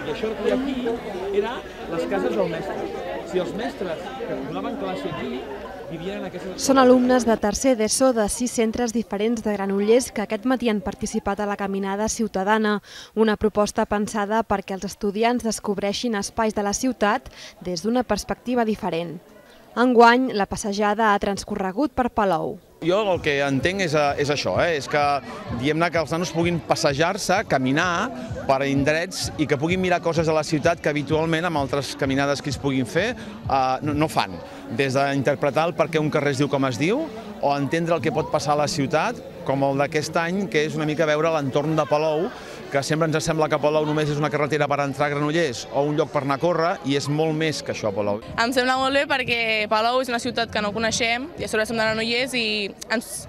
I això que hi ha aquí era les cases del mestre. Si els mestres que donaven classe aquí vivien en aquestes... Són alumnes de tercer d'ESO de 6 centres diferents de Granollers que aquest matí han participat a la Caminada Ciutadana, una proposta pensada perquè els estudiants descobreixin espais de la ciutat des d'una perspectiva diferent. Enguany, la passejada ha transcorregut per Palou. Jo el que entenc és això, és que diguem-ne que els nanos puguin passejar-se, caminar per indrets i que puguin mirar coses de la ciutat que habitualment amb altres caminades que es puguin fer no fan. Des d'interpretar el per què un carrer es diu com es diu o entendre el que pot passar a la ciutat, com el d'aquest any, que és una mica veure l'entorn de Palou, que sempre ens sembla que Palou només és una carretera per entrar a Granollers o un lloc per anar a córrer, i és molt més que això, Palou. Em sembla molt bé perquè Palou és una ciutat que no coneixem, i a sobre som de Granollers i ens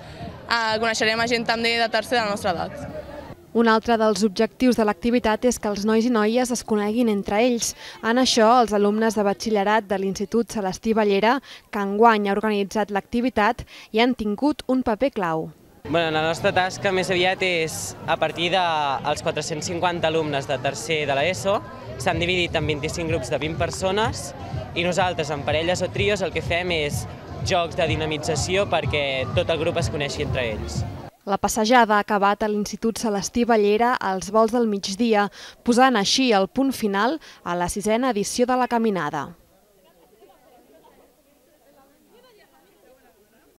coneixerem a gent també de tercer de la nostra edat. Un altre dels objectius de l'activitat és que els nois i noies es coneguin entre ells. En això, els alumnes de batxillerat de l'Institut Celestí Ballera, que enguany ha organitzat l'activitat, hi han tingut un paper clau. La nostra tasca més aviat és, a partir dels 450 alumnes de tercer de l'ESO, s'han dividit en 25 grups de 20 persones i nosaltres, en parelles o trios, el que fem és jocs de dinamització perquè tot el grup es coneixi entre ells. La passejada ha acabat a l'Institut Celestí Ballera als volts del migdia, posant així el punt final a la 6a edició de la Caminada.